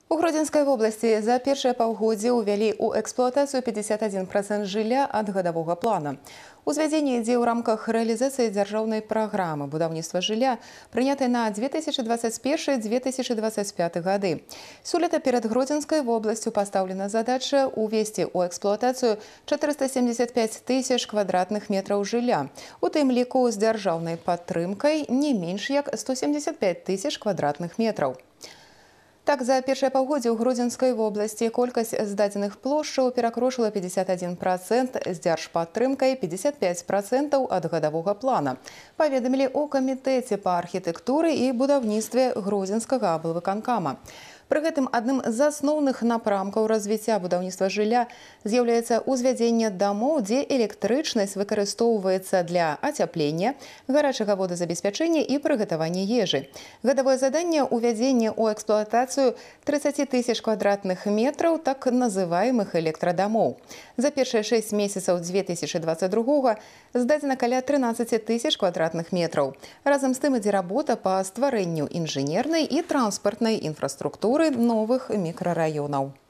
У Гродзенскай вобласці за першае паўгоддзе ўвялі ў эксплуатацыю 51% жылля ад гадавога плана. Узвядзенне ідзе ў рамках рэалізацыі дзяржаўнай праграмы будаўніцтва жылля, прынятай на 2021-2025 гады. Сёлета перад Гродзенскай вобласцю пастаўлена задача увесці ў эксплуатацыю 475 тысяч квадратных метраў жылля. У тым ліку з дзяржаўнай падтрымкай не менш як 175 тысяч квадратных метраў. Так, за першае паўгоддзе ў Гродзенскай вобласці колькасць здадзеных плошчаў перакрочыла 51%, з дзяржпадтрымкай 55% ад гадавога плана. Паведамілі ў камітэце па архітэктуры і будаўніцтве Гродзенскага аблвыканкама. Пры гэтым адным з асноўных напрамкаў развіцця будаўніцтва жылля з'яўляецца ўзвядзенне дамоў, дзе электрычнасць выкарыстоўваецца для ацяплення, гарачага водазабеспячэння і прыгатавання ежы. Гадавое заданне ўвядзення ў эксплуатацыю 30 тысяч квадратных метраў так называемых электрадамоў. За першыя 6 месяцаў 2022 здадзена каля 13 тысяч квадратных метраў. Разам з тым ідзе работа па стварэнню інжынернай і транспартнай інфраструктуры новых мікрараёнаў.